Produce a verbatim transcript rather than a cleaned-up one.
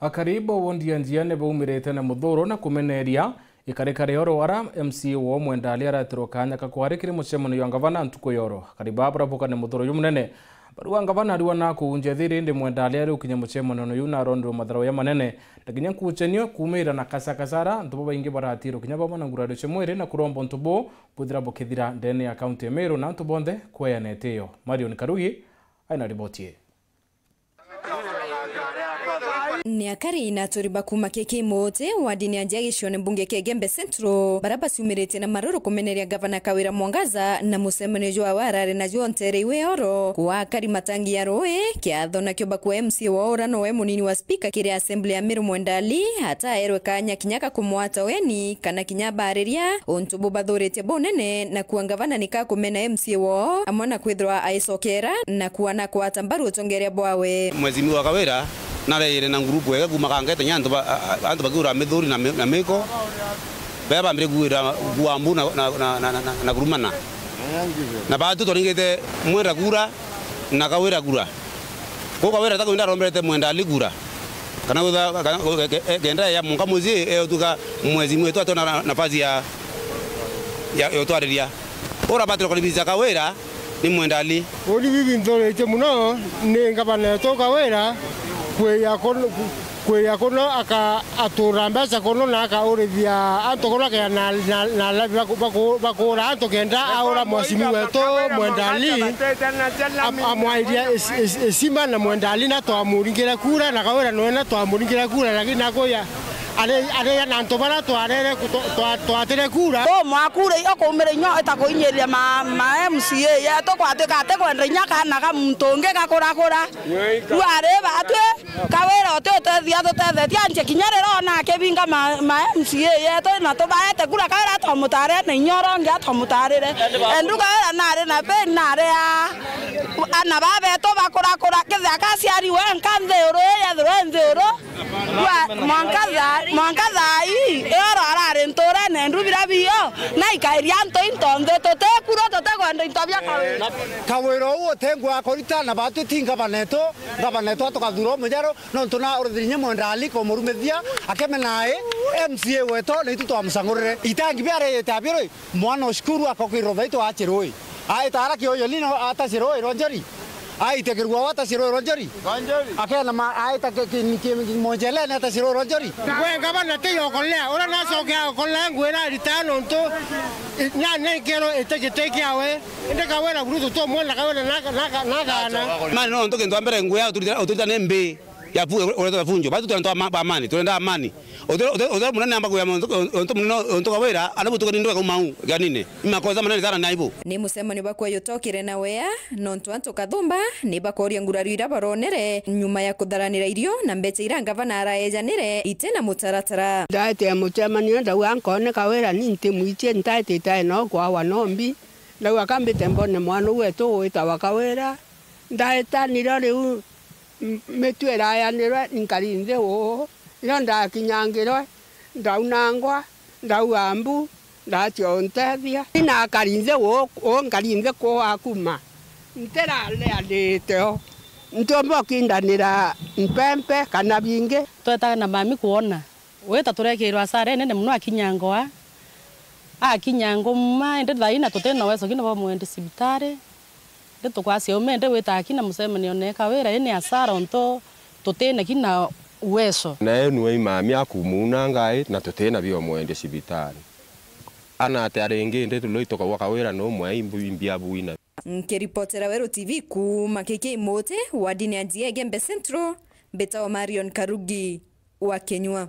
Akari ba wondi ya Njia ni baumirite na muthuro na kumeneria ikarika ria oro ara M C A wao Mwenda Ali aratirwa kanya ka kwari kiri mucemanio jwa ngavana ntuku ya oro. Akari baa barabuka ni muthuro jumunene. Barua ngavana ariwa na kuunjia thiri, indi Mwenda Ali ari ukinya mucemanio juu na aronderwa matharau jamanene na kinya nkuchenio kuumira na kasakasara. Antu babaingi baratirwa kinya bamwe na ngurario cia mwiri na kuromba untu buu bwithira bukithira ndene ya kaunti ya Meru na antu bonthe kweana itio. Marion Karugi aina riboti ii. Ni akari na aturi ba kuuma K K Moti, wardini ya Njia gicione mbunge kia Igembe Central, bara baciumiritie na maruru kumeneria Gavana Kawira Mwangaza na mucemanio jwawe arari najuo ntere iwe oro. Kwa akari matangi ya rui, kiatho nakio bakua M C A wao ura nowe munini wa spika kiri assembly ya Meru Mwenda Ali, ataerwe kanya kinya ga kumwata ugeni kana kinya bariria untu bubathuritie bunene, na kua ngavana nika kumena M C A wao amwe na kwithirwa aicokera na kuana kwata mbaru utongeria bwawe. Mheshimiwa Kawira nareire na ngurupu ega kuuma kangete nya antu ba-, a-, a-, antu bakiura mithuri na mi-, na miko, bea bambire kuira kuambu na, na, na, na, na, na kurumana. Na batu twaringite Mwenda kura na Kawira kura. Kwou Kawira takwenda aromberete Mwenda Ali kura. Kana witha-, kana, ke-, ke-, kenda ya munka mucii, e, utuka mheshimiwa wetu atona na-, nafasi ya, ya, ya utwariria. Ura batire kuribisa Kawira ni Mwenda Ali. Uni bibi nthuritie muno ni ngavana wetu Kawira kwia kuno, kwia kuno aka-, atura mbeca kuno na akaurithia antu kuno kea na, na, na labi baku-, baku-, bakuura antu kenda aura mheshimiwa wetu Mwenda Ali am-, amwairia is-, is-, isima na Mwenda Ali na twamuringire kura na Kawira nowe na twamuringire kura, lakini nakuya ari, ari na antu bara twarere ku-, twa-, twa-, twatire kura. Bo mwakure iyo kumire inyo itakuinyiria ma, ma M C A yetu kwatuika ati kwenda inya kana ka muntu ungi gakurakura. Riu ari batwi Kawira uti utethia tutethetie anche kinya riria ona akibinga ma, ma M C A yetu na tubaete kura Kawira atomutare na inya uria ungi atomutarire. Endu Kawira nari na pain nari a, ana babetu bakurakura kethira kaciariwe nka nthi uru yethirwe nthi uru. Rua-, mwanka thaa, mwanka thaa ii, ioro arari nturene, ndu bira bio, na ikairia antu into nthi, tutikuru, tutikwenda into bia Kawira. Kawira uu uti ngua akorita, na batu ti ngavana etu, ngavana etu atukathura umujeru, nontu na urithirie nye Mwenda Ali kumurumithia, akemena ai, M C A wetu, na itu twamucangurire. Itangi biareyete abirui, mwana o cukuru akokirwa thaitwa aci rui. Aita ara kioyo lino ataci rui rwa njori. Aite kirua ataci rui rwa njori. Akena ma aita ki, ki, ki, ki, monjelene ataci rui rwa njori. Ngwe ngavana ti yokolea, ura nacoke akolea ngwira arita nontu, i, na, na ikero ite giti kiawe. Indi Kawira buru tutumwona Kawira na, na, na, na gana. Mani nontu kintu a mbere ngwira uturita, uturita ni mbi. Ya fu-, uretwa funjo. Batu twenda twa ma-, amani, twenda amani. Uthe, uthe, uthe munene amba kuya muntu, muntu munene, muntu Kawira, ana butukani ndwe kauma u, ganine. Ni makosa manene sana na aibu. Ni mucemanio bakwa yutokire na wea, nontu antu kathumba ni bakoria ngurario ira baronere nyuma ya kutharanira irio na mbecha ira ngavana araejanire ite na mutaratara. Ndaete mucemanio, ndauga nkone Kawira ni ntimwitie, ntaetite no kwawa no mbi. Ndauga kambite mbone mwana u wetu witawa Kawira. Ndaetanire riu, m-, mitu irayanirwe, nkari nthi uu, rio ndakinyangirwe, ndaunangwa, ndauga mbu, ndatia untethia. Inakari nthi uu, uu nkari nthi kuu akuma. Ntirareanite o. Ntiumba ukindanira mpempe kana bingi. Twetaga na mami kwona. Wita turekirwa asara inene mono akinyangwa. Akinyangwa uma, indi thaina tutina uwezo kina bwa mwendi cibitari. Indi tukwacia ume, indi wita akina mucemanio ne Kawira, ini asara untu tutina kina uwezo. Na enu ai mami akumuuna ngai, na tutina bio mwendi cibitari. Ana ati aringi, indi tuloi tukauga Kawira no mwai mbu imbia buina. Nkiripotera Weru T V kuuma K K Moti, wardini ya Njia Igembe Central, mbitawa Marion Karugi wa Kenyua.